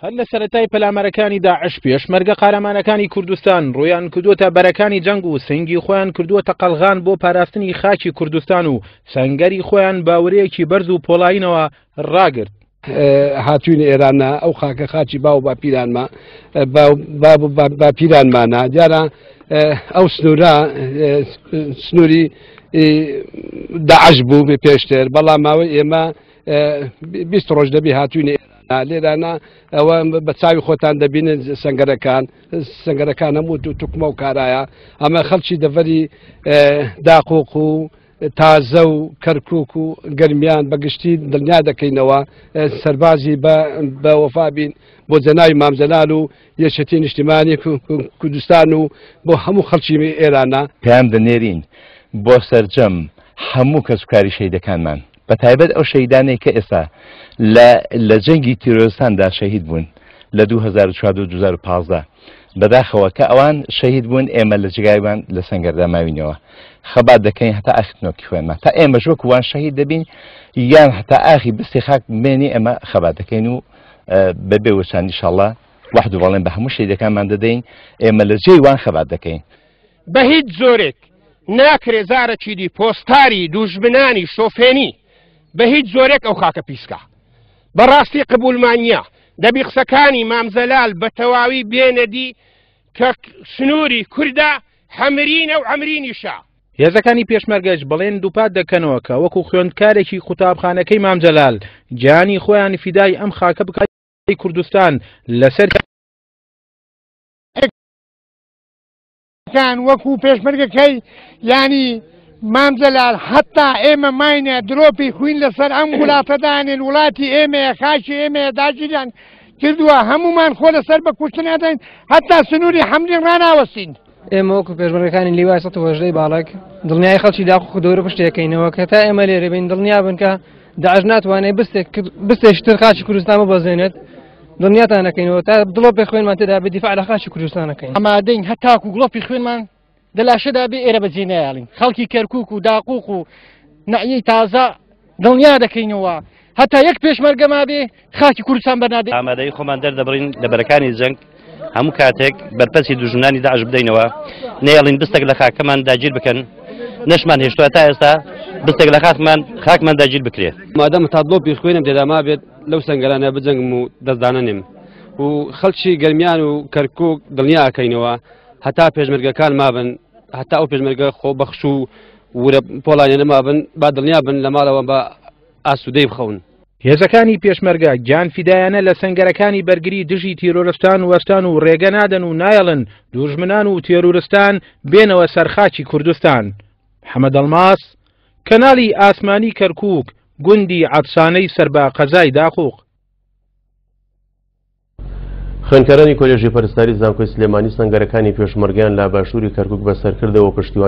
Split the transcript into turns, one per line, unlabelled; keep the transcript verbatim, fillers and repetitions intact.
هەر لە سەرەتای پەلامارەکانی داعش پێشمەرگە قارەمانەکانی کوردستان ڕوویان کردووەتە بەرەکانی جەنگ و سنگی خۆیان کردووەتە قەلغان بۆ پاراستنی خاکی کوردستان و سەنگەری خۆیان باورەیەکی بەرز و پۆڵایینەوە ڕاگرت.
هاتوین ئێرانە ئەو خاکە خاکی باو باپیرانما باپیرانمانە دیارە ئەو سنوورە سنووری داعش بوو بێ پێشتر، بەڵام ماوەی ئێمە بیست ڕۆژ دەبی هاتوین ئێرانە لێرانە ئەوە بە چاوی خۆتان دەبینن سەنگەرەکان سەنگەرەکان هەموو توکمە و کارایە. ئەمە خەڵکی دەڤەری داقوق و تازە و کەرکوک و گەرمیان بەگشتی دڵنیا دەکەینەوە سەربازی بە وەفا بین بۆ جەناوی مام جەلال و یەکێتی نیشتیمانی کوردستان و بۆ هەموو خەڵکی ئێرانە.
پەیام دەنێرین بۆ سەرجەم هەموو کەسوکاری شەهیدەکانمان، بە تایبەت ئەو شەهیدانەی کە ئێستا لە جەنگی تیرۆرستاندا شەهید بوون لە دوو هەزار و چواردە و دوو هەزار و پازدە. بەداخەوە کە ئەوان شەهید بوون ئێمە لە جێگایوان لە سەنگەردا ماوینەوە خەبات دەکەین هەتا ئاخر نۆکی خوێنمان، تا ئێمەش وەکو وان شەهید دەبین یان هەتا ئاخی بستی خاک بمێنی ئێمە خەبات دەکەین و بەبێ وچان ئینشاڵڵا وەحد و بەڵێن بە هەموو شەهیدەکانمان دەدەین، ئێمە لە جێی وان خەبات دەکەین.
بە هیچ زۆرێک ناکرێ زارەکی دی پۆستاری دوژمنانی شۆفێنی بە هیچ زۆرێک ئەو خاکە پیسکا. بەڕاستی قبولمان نییە. دەبی قسەکانی مام جەلال بە تەواوی بێنەدی کە سنووری کووردا حەمرینە و عەمرینیشە.
هێزەکانی پێشمەرگەش بەڵێن دووپات دەکەنەوە کە وەکو خوێندکارێکی قوتابخانەکەی مام جەلال گیانی خۆیان فیدای ئەم خاکە بکات کوردستان لەسەر
کان وەکو پێشمەرگەکەی ینی مام جەلال حتا ئێمە ماینە درۆپی خوین لەسەر ئەم وڵاتەدانێن، وڵاتی ئێمەیە، خاکی ئێمەیە، داگیریان کردووە، هەمومان خۆ لەسەر بە کوشتن ئەدەین هەتا سنووری حەمرین ڕاناوەستین.
ئێمە وەکو پێشمەرگەکانی لیوای سەد و هەژدەی باڵک دڵنیای خەڵکی داقوق و دەورە پشتێکەینەوە کە تا ئێمە لێرە بین دڵنیا بن کە داعش ناتوانێت بستێکی تر خاکی کوردستان ببەزێنێت، دڵنیاتان نەکەینەوە تا دڵۆپی خوێنمان تێدا بێ دیفاع لە خاکی کوردستان نەکەین.
ئامادەین هەتاکو گڵۆپی خوێنمان دەلاشەدا بێ ئێرە بەجێ نایاڵین. خەڵکی کەرکوک و داقوق و نەعیەی تازە دڵنیا دەکەینەوە هەتا یەک پێشمەرگەما بێ خاکی کوردستان بەرنادەین.
ئامادەی خۆمان دەردەبڕین لە بەرەکانی جەنگ هەموو کاتێک بەرپەسی دوژمنانی داعش بدەینەوە، نەیەڵین بستێک لە خاکەمان داگیر بکەن، نەشمان هێشتووە تا ئێستا بستێک لە خاکمان خاکمان داگیر بکرێت.
مادەم تا دڵۆپی خوێنم تێدا مابێت لەو سەنگەرانە بجەنگم و دەستدانەنێم و خەڵکی گەرمیان و کەرکوک دڵنیا ئەکەینەوە هەتا پێشمەرگەکان مابن، هەتا ئەو پێشمەرگە خۆبەخش و ورە پۆڵانیانە مابن، با دڵنیا بن لە ماڵەوە بە ئاسوودەی بخەون.
هێزەکانی پێشمەرگە گیان فیدایانە لە سەنگەرەکانی بەرگری دژی تیرۆرستان وەستان و ڕێگە نادەن و نایەڵن دوژمنان و تیرۆرستان بێنەوە سەرخاکی کوردستان. محەممەد ئەڵماس، کەناڵی ئاسمانی کەرکوک، گوندی عەدسانەی سەر بە قەزای داقوق.
خوێندکارانی کۆلێژی پەرستاری زانکۆی سلێمانی سەنگەرەکانی پێشمەرگەیان لە باشووری کەرکوک بەسەرکردەوە پشتیوان